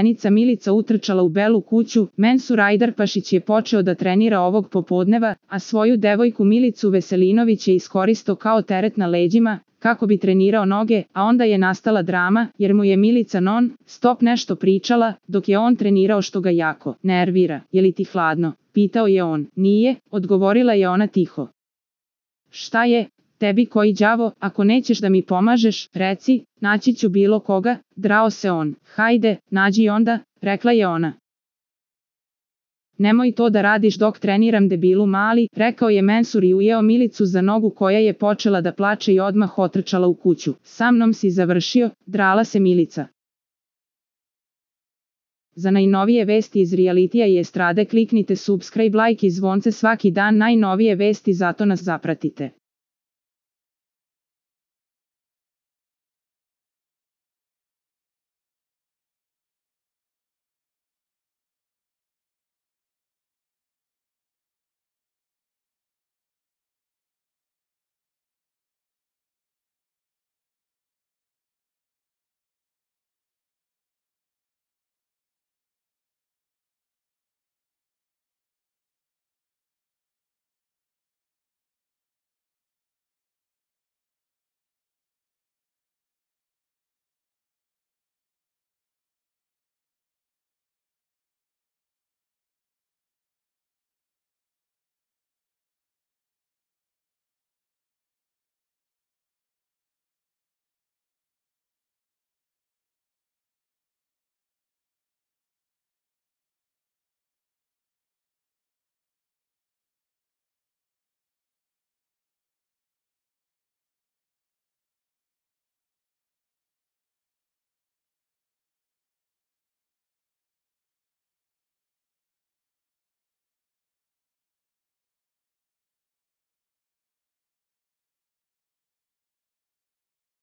zaposlenica Milica utrčala u Belu kuću, Mensur Ajdarpašić je počeo da trenira ovog popodneva, a svoju devojku Milicu Veselinović je iskoristo kao teret na leđima, kako bi trenirao noge, a onda je nastala drama, jer mu je Milica non-stop nešto pričala, dok je on trenirao što ga jako nervira. Je li ti hladno? Pitao je on. Nije, odgovorila je ona tiho. Šta je? Tebi koji đavo, ako nećeš da mi pomažeš, reci, naći ću bilo koga, drao se on. Hajde, nađi onda, rekla je ona. Nemoj to da radiš dok treniram debilu mali, rekao je Mensur i ujeo Milicu za nogu koja je počela da plače i odmah otrčala u kuću. Sa mnom si završio, drala se Milica. Za najnovije vesti iz realitija i estrade kliknite subscribe, like i zvonce svaki dan, najnovije vesti, zato nas zapratite.